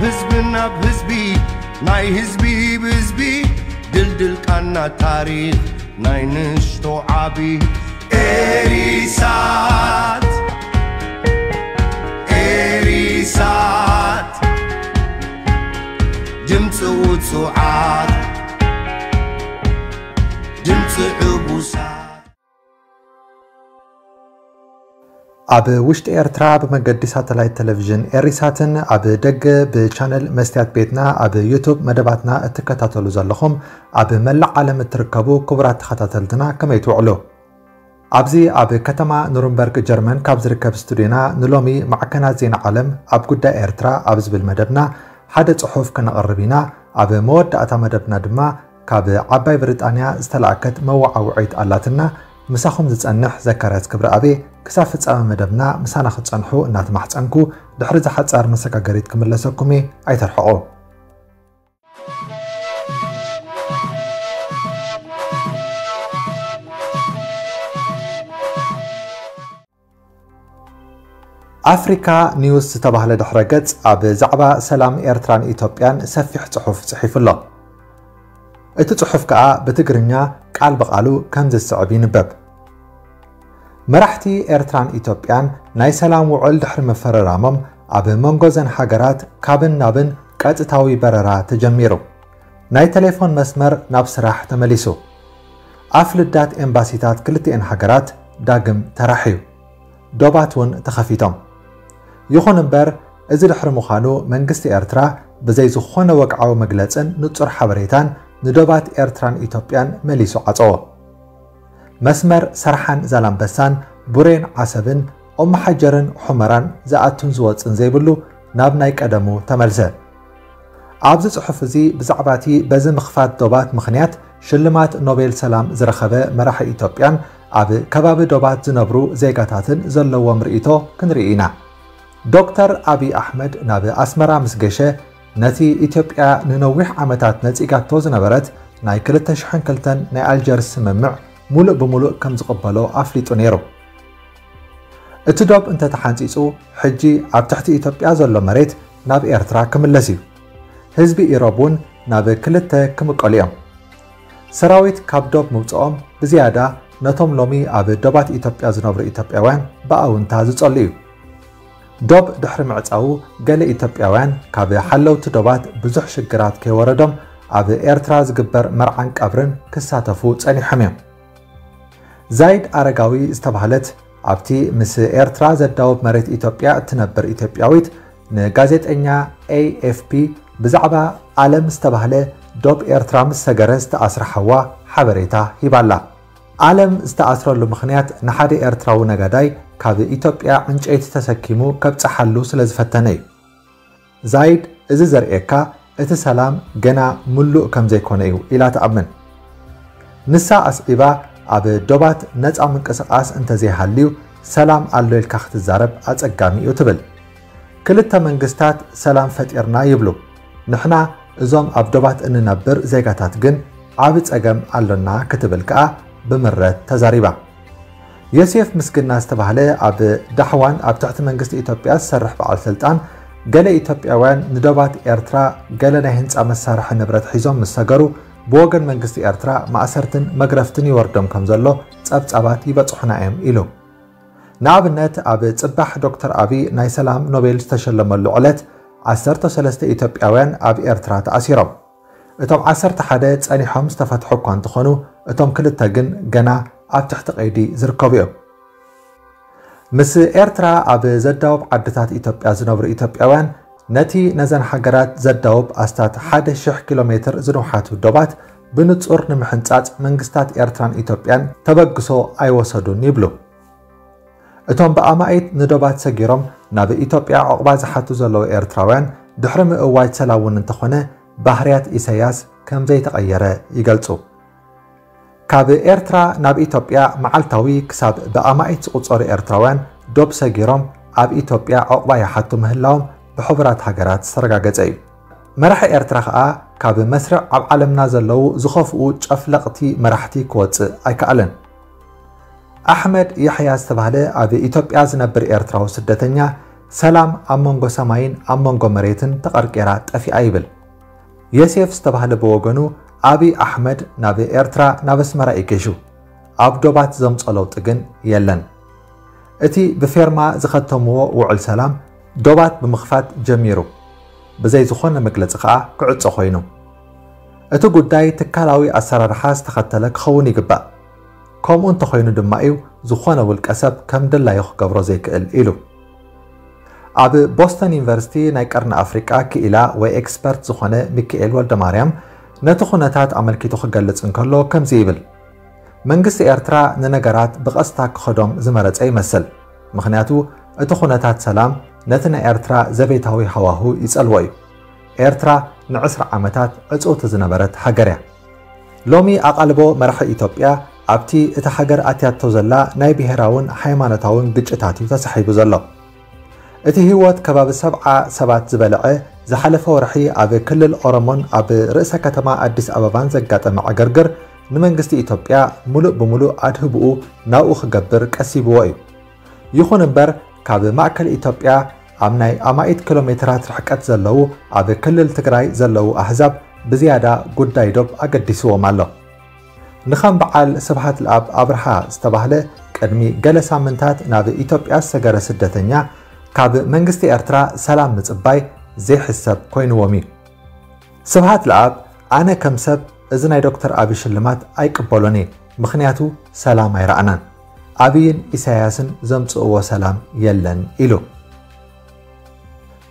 ህዝቢ ናብ ህዝቢ፣ ናይ ህዝቢ ብህዝቢ፣ ድልድል ቃና ታሪኽ ናይ ንእሽቶ ዓቢ። ኤሪሳት፣ ኤሪሳት፣ ድምፂ ውፁዓት፣ ድምፂ ዕቡሳት። ኣብ ውሽጢ ኤርትራ ብመገዲ ሳተላይት ቴሌቪዥን ኤሪሳትን ኣብ ደገ ብቻነል መስትያት ቤትና ኣብ ዩቱብ መደባትና እትከታተሉ ዘለኹም ኣብ መላእ ዓለም እትርከቡ ክቡራት ተኸታተልትና ከመይ ትውዕሉ? ኣብዚ ኣብ ከተማ ኑርንበርግ ጀርመን ካብ ዝርከብ ስቱድዮና ንሎሚ ማዕከናት ዜና ዓለም ኣብ ጉዳይ ኤርትራ ኣብ ዝብል መደብና ሓደ ጽሑፍ ከነቕርብ ኢና። ኣብ መወዳእታ መደብና ድማ ካብ ዓባይ ብሪጣንያ ዝተላእከት መወዓውዒት ኣላትና። ምሳኹም ዝጸንሕ ዘካርያስ ክብረኣብ። ክሳብ ፍጻመ መደብና ምሳና ክትጸንሑ እናተማሕጸንኩ፣ ድሕሪ እዛ ሓጻር መሰጋገሪት ክምለሰኩም እየ። ኣይተርሕቑ። ኣፍሪካ ኒውስ ዝተባህለ ድሕረ ገጽ ኣብ ዛዕባ ሰላም ኤርትራን ኢትዮጵያን ሰፊሕ ጽሑፍ ጽሒፉ ኣሎ። እቲ ጽሑፍ ከኣ ብትግርኛ ቃል ብቓሉ ከምዚ ዝስዕብ ይንበብ። መራሕቲ ኤርትራን ኢትዮጵያን ናይ ሰላም ውዕል ድሕሪ ምፍርራሞም፣ ኣብ መንጎ ዘን ሃገራት ካብን ናብን ቀጥታዊ በረራ ተጀሚሩ። ናይ ቴሌፎን መስመር ናብ ስራሕ ተመሊሱ። ኣፍ ልዳት ኤምባሲታት ክልቲኤን ሃገራት ዳግም ተራሕዩ። ዶባት እውን ተኸፊቶም። ይኹን እምበር፣ እዚ ድሕሪ ምዃኑ መንግስቲ ኤርትራ ብዘይ ዝኾነ ወግዓዊ መግለጽን ንጹር ሓበሬታን ንዶባት ኤርትራን ኢትዮጵያን መሊሱ ዓጸዎ። መስመር ሰርሓን ዛላምበሳን ቡሬን ዓሰብን ኦመሓጀርን ሑመራን ዝኣቱን ዝወጽን ዘይብሉ ናብ ናይ ቀደሙ ተመልሰ። ኣብዚ ጽሑፍ እዚ ብዛዕባ እቲ በዚ ምኽፋት ዶባት ምኽንያት ሽልማት ኖቤል ሰላም ዝረኸበ መራሒ ኢትዮጵያን ኣብ ከባቢ ዶባት ዝነብሩ ዜጋታትን ዘለዎም ርእይቶ ክንርኢ ኢና። ዶክተር ኣብይ ኣሕመድ ናብ ኣስመራ ምስ ገሸ፣ ነቲ ኢትዮጵያ ንነዊሕ ዓመታት ነጺጋቶ ዝነበረት ናይ ክልተ ሽሕን ክልተን ናይ ኣልጀርስ ስምምዕ ሙሉእ ብሙሉእ ከም ዝቕበሎ ኣፍሊጡ ነይሩ። እቲ ዶብ እንተተሓንጺጹ፣ ሕጂ ኣብ ትሕቲ ኢትዮጵያ ዘሎ መሬት ናብ ኤርትራ ክምለስ እዩ። ህዝቢ ኢሮብ እውን ናብ ክልተ ክምቀሉ እዮም። ሰራዊት ካብ ዶብ ምውጽኦም ብዝያዳ ነቶም ሎሚ ኣብ ዶባት ኢትዮጵያ ዝነብሩ ኢትዮጵያውያን ብኣውንታ ዝጸሉ እዩ። ዶብ ድሕሪ ምዕጻዉ፣ ገለ ኢትዮጵያውያን ካብ ሓለውቲ ዶባት ብዙሕ ሽግራት ከይወረዶም ኣብ ኤርትራ ዝግበር መርዓን ቀብርን ክሳተፉ ጸኒሖም እዮም። ዛይድ ኣረጋዊ ዝተባህለት ኣብቲ ምስ ኤርትራ ዘዳውብ መሬት ኢትዮጵያ እትነብር ኢትዮጵያዊት ንጋዜጠኛ ኤ ኤፍ ፒ ብዛዕባ ኣለም ዝተባህለ ዶብ ኤርትራ ምስ ሰገረ ዝተኣስረ ሓዋ ሓበሬታ ሂባላ። ኣለም ዝተኣስረሉ ምኽንያት ንሓደ ኤርትራዊ ነጋዳይ ካብ ኢትዮጵያ ዕንጨይቲ ተሰኪሙ ከብጽሓሉ ስለ ዝፈተነ እዩ። ዛይድ፣ እዚ ዘርእየካ እቲ ሰላም ገና ምሉእ ከም ዘይኮነ እዩ ኢላ ትኣምን። ንሳ ኣስዒባ፣ ኣብ ዶባት ነጻ ምንቅስቓስ እንተዘይሃልዩ ሰላም ኣሎ ኢልካ ክትዛረብ ኣጸጋሚ እዩ ትብል። ክልተ መንግስታት ሰላም ፈጢርና ይብሉ፣ ንሕና እዞም ኣብ ዶባት እንነብር ዜጋታት ግን ዓቢ ጸገም ኣሎና ክትብል ከኣ ብምረት ተዛሪባ። ዮሴፍ ምስግና ዝተባህለ ኣብ ዳሕዋን ኣብ ትሕቲ መንግስቲ ኢትዮጵያ ዝሰርሕ በዓል ስልጣን፣ ገለ ኢትዮጵያውያን ንዶባት ኤርትራ ገለ ናይ ህንጻ መሳርሒ ንብረት ሒዞም ምስ ሰገሩ፣ ብወገን መንግስቲ ኤርትራ ማእሰርትን መግረፍትን ይወርዶም ከም ዘሎ ጸብጻባት ይበጽሑና እዮም ኢሉ። ንኣብነት፣ ኣብ ጽባሕ ዶክተር ኣቢ ናይ ሰላም ኖቤል ዝተሸለመሉ ዕለት ዓሰርተ ሰለስተ ኢትዮጵያውያን ኣብ ኤርትራ ተኣሲሮም። እቶም ዓሰርተ ሓደ ጸኒሖም ዝተፈትሑ እኳ እንተኾኑ፣ እቶም ክልተ ግን ገና ኣብ ትሕቲ ቀይዲ ዝርከቡ እዮም። ምስ ኤርትራ ኣብ ዘዳውብ ዓድታት ኢትዮጵያ ዝነብሩ ኢትዮጵያውያን፣ ነቲ ነዘን ሃገራት ዘዳውብ ኣስታት ሓደ ሽሕ ኪሎ ሜትር ዝንውሓቱ ዶባት ብንጹር ንምሕንጻጽ መንግስታት ኤርትራን ኢትዮጵያን ተበግሶ ኣይወሰዱን ይብሉ። እቶም ብኣማኢት ንዶባት ሰጊሮም ናብ ኢትዮጵያ ዑቕባ ዝሓቱ ዘለዉ ኤርትራውያን፣ ድሕሪ ምእዋጅ ሰላም እውን እንተኾነ፣ ባህርያት ኢሳያስ ከም ዘይተቐየረ ይገልጹ። ካብ ኤርትራ ናብ ኢትዮጵያ መዓልታዊ ክሳብ ብኣማኢት ዝቑጸሩ ኤርትራውያን ዶብ ሰጊሮም ኣብ ኢትዮጵያ ዑቕባ ይሓቱ ምህላዎም ብሕቡራት ሃገራት ዝተረጋገጸ እዩ። መራሒ ኤርትራ ከኣ ካብ መስርዕ ኣብ ዓለምና ዘለዉ ዝኸፍኡ ጨፍለቕቲ መራሕቲ ክወጽእ ኣይከኣለን። ኣሕመድ ያሕያ ዝተባህለ ኣብ ኢትዮጵያ ዝነብር ኤርትራዊ ስደተኛ፣ ሰላም ኣብ መንጎ ሰማይን ኣብ መንጎ መሬትን ተቐርቂራ ጠፊኣ ይብል። የሴፍ ዝተባህለ ብወገኑ፣ ኣብይ ኣሕመድ ናብ ኤርትራ ናብ ኣስመራ እዩ ገይሹ። ኣብ ዶባት ዘምጾ ለውጢ ግን የለን። እቲ ብፌርማ ዝኸተምዎ ውዕል ሰላም ዶባት ብምኽፋት ጀሚሩ፣ ብዘይ ዝኾነ መግለጺ ከኣ ክዕጾ ኮይኑ። እቲ ጉዳይ ትካላዊ ኣሰራርሓ ዝተኸተለ ክኸውን ይግባእ። ከምኡ እንተኾይኑ ድማ እዩ ዝኾነ ውልቀ ሰብ ከም ድላዩ ክገብሮ ዘይክእል ኢሉ። ኣብ ቦስተን ዩኒቨርሲቲ ናይ ቀርኒ ኣፍሪቃ ክኢላ ወይ ኤክስፐርት ዝኾነ ሚካኤል ወልደማርያም ነቲ ኩነታት ኣመልኪቱ ክገልጽ እንከሎ ከምዚ ይብል። መንግስቲ ኤርትራ ንነገራት ብቐስታ ክኸዶም ዝመረጸ ይመስል። ምኽንያቱ እቲ ኩነታት ሰላም ነቲ ናይ ኤርትራ ዘቤታዊ ሃዋሁ ይጸልዎ እዩ። ኤርትራ ንዕስራ ዓመታት ዕጽውቲ ዝነበረት ሃገር እያ። ሎሚ ኣቓልቦ መራሒ ኢትዮጵያ ኣብቲ እታ ሃገር ኣትያቶ ዘላ ናይ ብሄራውን ሃይማኖታውን ግጭታት እዩ ተሳሒቡ ዘሎ። እቲ ህይወት ከባቢ ሰብዓ ሰባት ዝበልዐ ዝሓለፈ ወርሒ ኣብ ክልል ኦሮሞን ኣብ ርእሰ ከተማ ኣዲስ ኣበባን ዘጋጠመ ዕግርግር ንመንግስቲ ኢትዮጵያ ሙሉእ ብሙሉእ ኣድህብኡ ናብኡ ክገብር ቀሲብዎ እዩ። ይኹን እምበር ካብ ማእከል ኢትዮጵያ ኣብ ናይ ኣማኢት ኪሎ ሜትራት ርሕቀት ዘለዉ ኣብ ክልል ትግራይ ዘለዉ ኣህዛብ ብዝያዳ ጉዳይ ዶብ ኣገዲስዎም ኣሎ። ንኸም በዓል ስብሃት ለኣብ ኣብርሃ ዝተባህለ ቅድሚ ገለ ሳምንታት ናብ ኢትዮጵያ ዝሰገረ ስደተኛ ካብ መንግስቲ ኤርትራ ሰላም ምጽባይ ዘይሕሰብ ኮይንዎም እዩ። ስብሃት ለኣብ ኣነ ከም ሰብ እዚ ናይ ዶክተር ኣብይ ሽልማት ኣይቅበሎን እየ፣ ምኽንያቱ ሰላም ኣይረኣናን። ኣብይን ኢሳያስን ዘምጽእዎ ሰላም የለን ኢሉ።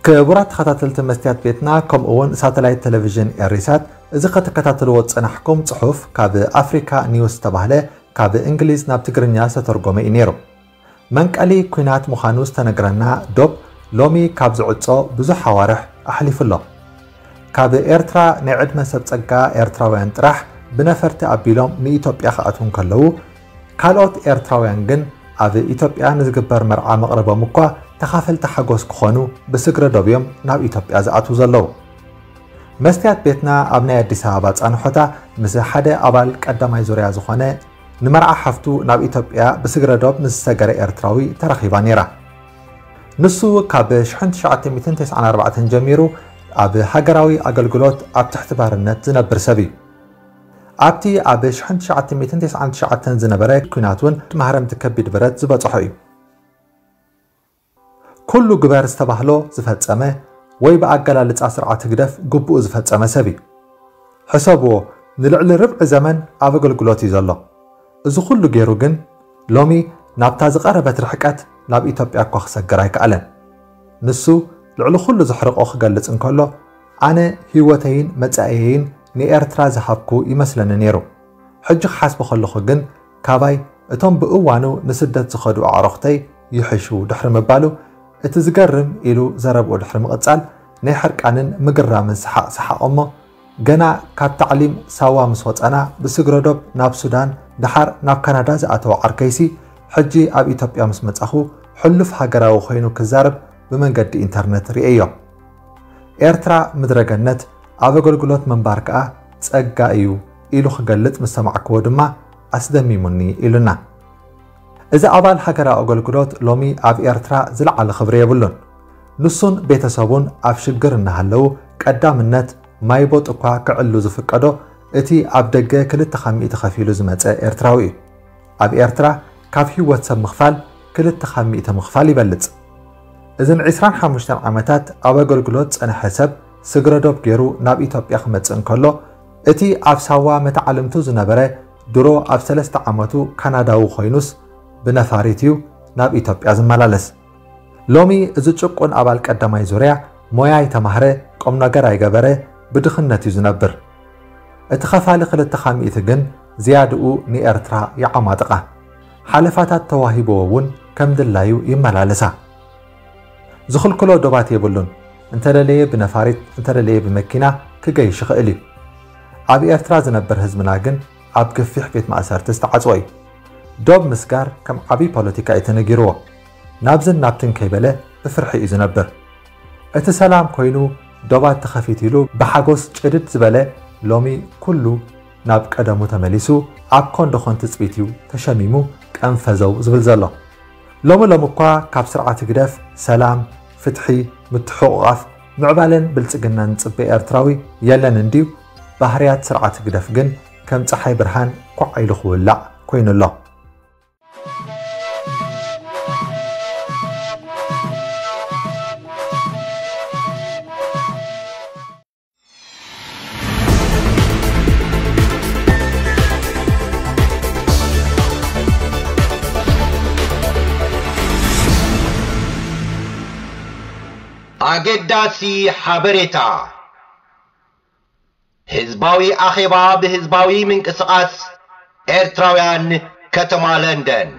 ክቡራት ተኸታተልቲ መስትያት ቤትና ከምኡ እውን ሳተላይት ቴሌቪዥን ኤሪሳት እዚ ከተከታተልዎ ዝጸናሕኩም ጽሑፍ ካብ ኣፍሪካ ኒውስ ዝተባህለ ካብ እንግሊዝ ናብ ትግርኛ ዝተተርጎመ እዩ ነይሩ። መንቀሊ ኲናት ምዃኑ ዝተነግረና ዶብ ሎሚ ካብ ዝዕጾ ብዙሕ ኣዋርሕ ኣሕሊፉ ኣሎ። ካብ ኤርትራ ናይ ዕድመ ሰብ ጸጋ ኤርትራውያን ጥራሕ ብነፈርቲ ኣቢሎም ንኢትዮጵያ ክኣትዉ እንከለዉ፣ ካልኦት ኤርትራውያን ግን ኣብ ኢትዮጵያ ንዝግበር መርዓ መቕረቦም እኳ ተኻፈልቲ ሓጎስ ክኾኑ ብስግረ ዶብ እዮም ናብ ኢትዮጵያ ዝኣትዉ ዘለዉ። መስትያት ቤትና ኣብ ናይ ኣዲስ ኣበባ ጻንሖታ ምስ ሓደ ኣባል ቀዳማይ ዙርያ ዝኾነ ንመርዓ ሓፍቱ ናብ ኢትዮጵያ ብስግረ ዶብ ምስ ዝሰገረ ኤርትራዊ ተራኺባ ነይራ። ንሱ ካብ ሽሕን ትሽዓተ ሚእትን ተስዓን ኣርባዕተን ጀሚሩ ኣብ ሃገራዊ ኣገልግሎት ኣብ ትሕቲ ባርነት ዝነብር ሰብ እዩ። ኣብቲ ኣብ ሽሕን ትሽዓተ ሚእትን ተስዓን ትሽዓተን ዝነበረ ኲናት እውን ማህረምቲ ከቢድ ብረት ዝበጽሖ እዩ። ኩሉ ግበር ዝተባህሎ ዝፈጸመ ወይ ብኣገላልጻ ስርዓት ህግደፍ ግቡኡ ዝፈጸመ ሰብ እዩ። ሕሰብዎ፣ ንልዕሊ ርብዒ ዘመን ኣብ ኣገልግሎት እዩ ዘሎ። እዚ ኩሉ ገይሩ ግን ሎሚ ናብታ ዝቐረበት ርሕቀት ናብ ኢትዮጵያ እኳ ክሰግር ኣይከኣለን። ንሱ ልዕሊ ኩሉ ዘሕርቆ ክገልጽ እንከሎ፣ ኣነ ህይወተይን መጻኢየይን ንኤርትራ ዝሃብኩ ይመስለኒ ነይሩ። ሕጂ ክሓስቦ ከለኹ ግን ካባይ እቶም ብእዋኑ ንስደት ዝኸዱ ኣዕሩኽተይ ይሕሹ ድሕሪ ምባሉ፣ እቲ ዝገርም ኢሉ ዘረብኡ ድሕሪ ምቕጻል፣ ናይ ሕርቃንን ምግራምን ሰሓቕ ሰሓቖ እሞ፣ ገና ካብ ታዕሊም ሳዋ ምስ ወጸና ብስግረ ዶብ ናብ ሱዳን፣ ደሓር ናብ ካናዳ ዝኣተወ ዓርከይሲ፣ ሕጂ ኣብ ኢትዮጵያ ምስ መጻኹ፣ ሕሉፍ ሃገራዊ ኮይኑ ክዛረብ ብመንገዲ ኢንተርነት ርእየዮ። ኤርትራ ምድረ ገነት፣ ኣብ ኣገልግሎት ምንባር ከኣ ጸጋ እዩ ኢሉ ክገልጽ ምስ ሰማዕክዎ ድማ ኣስደሚሙኒ ኢሉና። እዚ ኣባል ሃገራዊ ኣገልግሎት ሎሚ ኣብ ኤርትራ ዝለዓለ ክብሪ የብሉን። ንሱን ቤተሰቡን ኣብ ሽግር እናሃለዉ ቀዳምነት ማይ ቦጥ እኳ ክዕሉ ዝፍቀዶ እቲ ኣብ ደገ ክልተ ካብ ሚእቲ ከፊሉ ዝመጸ ኤርትራዊ እዩ። ኣብ ኤርትራ ካብ ህይወት ሰብ ምኽፋል ክልተ ካብ ሚእቲ ምኽፋል ይበልጽ። እዚ ንዕስራን ሓሙሽተን ዓመታት ኣብ ኣገልግሎት ዝጸንሐ ሰብ ስግረ ዶብ ገይሩ ናብ ኢትዮጵያ ክመጽእ እንከሎ፣ እቲ ኣብ ሳዋ መተዓልምቱ ዝነበረ ድሮ ኣብ ሰለስተ ዓመቱ ካናዳዊ ኮይኑስ ብነፋሪት እዩ ናብ ኢትዮጵያ ዝመላለስ። ሎሚ እዚ ጭቁን ኣባል ቀዳማይ ዙርያ ሞያ ኣይተማህረ፣ ቁም ነገር ኣይገበረ፣ ብድኽነት እዩ ዝነብር። እቲ ኸፋሊ ክልተ ካብ ሚእቲ ግን ዝያድኡ ንኤርትራ ይዓማጥቓ። ሓለፋታት ተዋሂብዎ እውን ከም ድላዩ ይመላለሳ። ዝኽልክሎ ዶባት የብሉን። እንተደለየ ብነፋሪት፣ እንተደለየ ብመኪና ክገይሽ ይኽእል እዩ። ኣብ ኤርትራ ዝነብር ህዝብና ግን ኣብ ገፊሕ ቤት ማእሰርቲ ዝተዓጽወ እዩ። ዶብ ምስጋር ከም ዓብዪ ፖለቲካ እዩ ተነጊርዎ። ናብዝን ናብትን ከይበለ ብፍርሒ እዩ ዝነብር። እቲ ሰላም ኮይኑ ዶባት ተኸፊት ኢሉ ብሓጎስ ጭድድ ዝበለ ሎሚ ኩሉ ናብ ቀደሙ ተመሊሱ ኣብ ኮንዶኾን ትጽቢት እዩ ተሸሚሙ ቀንፈዘው ዝብል ዘሎ። ሎሚ ሎሚ እኳ ካብ ስርዓት ህግደፍ ሰላም፣ ፍትሒ፣ ምትሕቑቓፍ፣ ምዕባለን ብልጽግናን ዝጽበ ኤርትራዊ የለን እንድዩ። ባህርያት ስርዓት ህግደፍ ግን ከም ጸሓይ ብርሃን ኳዕ ኢሉ ክውላዕ ኮይኑ ኣሎ። ኣገዳሲ ሓበሬታ! ህዝባዊ ኣኼባ ብህዝባዊ ምንቅስቓስ ኤርትራውያን ከተማ ለንደን።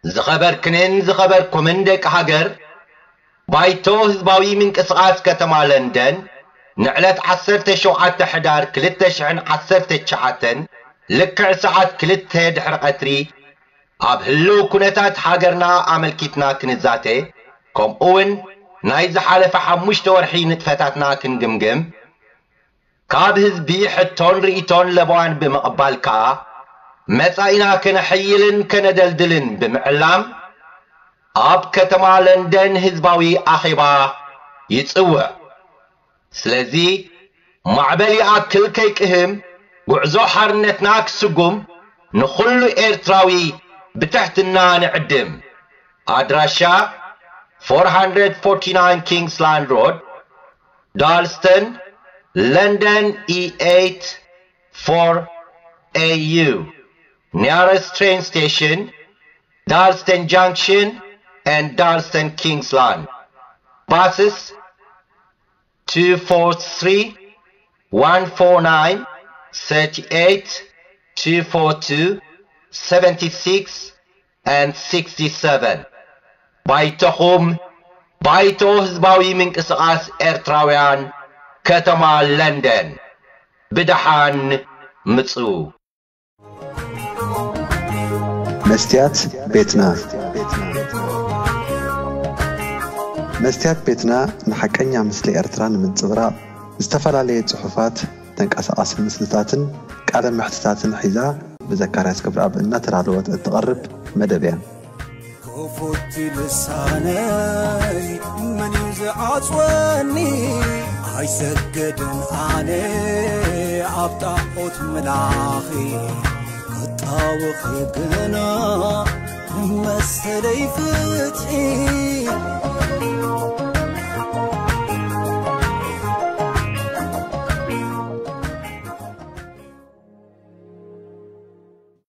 ዝኸበርክንን ዝኸበርኩምን ደቂ ሃገር፣ ባይቶ ህዝባዊ ምንቅስቓስ ከተማ ለንደን ንዕለት ዓሰርተ ሸውዓተ ሕዳር ክልተ ሽሕን ዓሰርተ ትሽዓተን ልክዕ ሰዓት ክልተ ድሕሪ ቀትሪ ኣብ ህልው ኩነታት ሃገርና ኣመልኪትና ክንዛተ፣ ከምኡውን ናይ ዝሓለፈ ሓሙሽተ ወርሒ ንጥፈታትና ክንግምግም፣ ካብ ህዝቢ ሕቶን ርእይቶን ለበዋን ብምቕባል ከኣ፣ መጻኢና ከነሐይልን ከነደልድልን ብምዕላም፣ ኣብ ከተማ ለንደን ህዝባዊ ኣኼባ ይጽውዕ። ስለዚ፣ ማዕበል ይኣክል ከይቅህም፣ ጉዕዞ ሓርነትና ክስጉም፣ ንኹሉ ኤርትራዊ ብትሕትና ንዕድም። ኣድራሻ፣ ፎር ሃንድረድ ፎርቲ ናይን ኪንግስ ላንድ ሮድ፣ ዳልስተን፣ ለንደን፣ ኢ ኤይት ፎር ኤ ዩ። Nearest train station, Dalston Junction and Dalston Kingsland. Buses, two four three, one four nine, thirty eight, two four two, seventy six, and sixty seven. ባይቶኹም፣ ባይቶ ህዝባዊ ምንቅስቓስ ኤርትራውያን፣ ከተማ ለንደን። ብደሓን ምጹ። መስትያት ቤትና። መስትያት ቤትና ንሓቀኛ ምስሊ ኤርትራ ንምንጽብራቕ፣ ዝተፈላለየ ጽሑፋት፣ ተንቀሳቓሲ ምስልታትን ቃለ መሕትታትን ሒዛ ብዘካርያስ ገብረኣብ እናተዳለወት እትቐርብ መደብ እያ። ክፉት ልሳነይ መን እዩ ዝዓጽወኒ? ኣይሰግድን ኣነ ኣብ ጣዖት ምላኺ፣ ክጣወኺ ግና መሰለይ ፍትሒ።